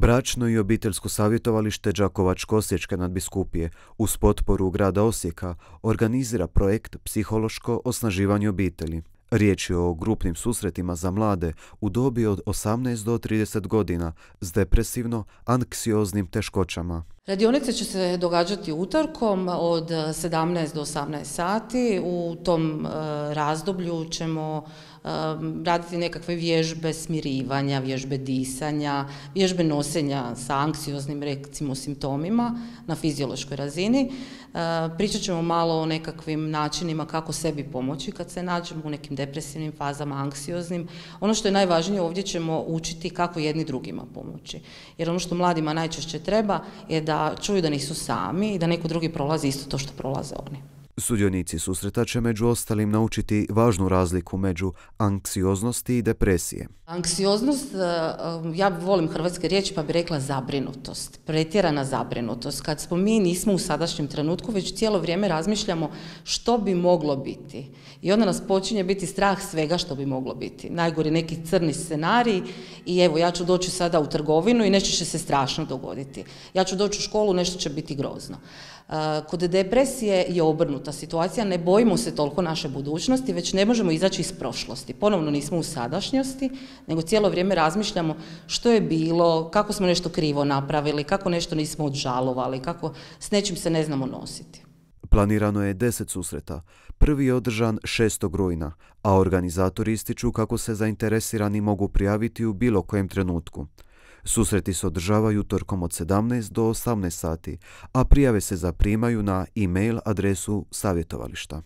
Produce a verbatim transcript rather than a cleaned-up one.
Bračno i obiteljsko savjetovalište Đakovačko-osječke nadbiskupije uz potporu grada Osijeka organizira projekt Psihološko osnaživanje obitelji. Riječ je o grupnim susretima za mlade u dobi od osamnaest do trideset godina s depresivno-anksioznim teškoćama. Radionice će se događati utorkom od sedamnaest do osamnaest sati. U tom razdoblju ćemo raditi nekakve vježbe smirivanja, vježbe disanja, vježbe nosenja sa anksioznim recimo simptomima na fiziološkoj razini. Pričat ćemo malo o nekakvim načinima kako sebi pomoći kad se nađemo u nekim depresivnim fazama, anksioznim. Ono što je najvažnije, ovdje ćemo učiti kako jedni drugima pomoći. Jer ono što mladima najčešće treba je da čuju da nisu sami i da neko drugi prolazi isto to što prolaze oni. Sudionici susreta će među ostalim naučiti važnu razliku među anksioznosti i depresije. Anksioznost, ja volim hrvatske riječi pa bih rekla zabrinutost, pretjerana zabrinutost. Kad smo mi nismo u sadašnjem trenutku, već cijelo vrijeme razmišljamo što bi moglo biti. I onda nas počinje biti strah svega što bi moglo biti. Najgori neki crni scenarij i evo ja ću doći sada u trgovinu i nešto će se strašno dogoditi. Ja ću doći u školu, nešto će biti grozno. Kod depresije je obrnuta situacija, ne bojimo se toliko naše budućnosti, već ne možemo izaći iz prošlosti. Ponovno nismo u sadašnjosti, nego cijelo vrijeme razmišljamo što je bilo, kako smo nešto krivo napravili, kako nešto nismo odžalovali, kako s nečim se ne znamo nositi. Planirano je deset susreta. Prvi je održan šestog rujna, a organizatori ističu kako se zainteresirani mogu prijaviti u bilo kojem trenutku. Susreti se održavaju utorkom od sedamnaest do osamnaest sati, a prijave se zaprimaju na e-mail adresu savjetovališta.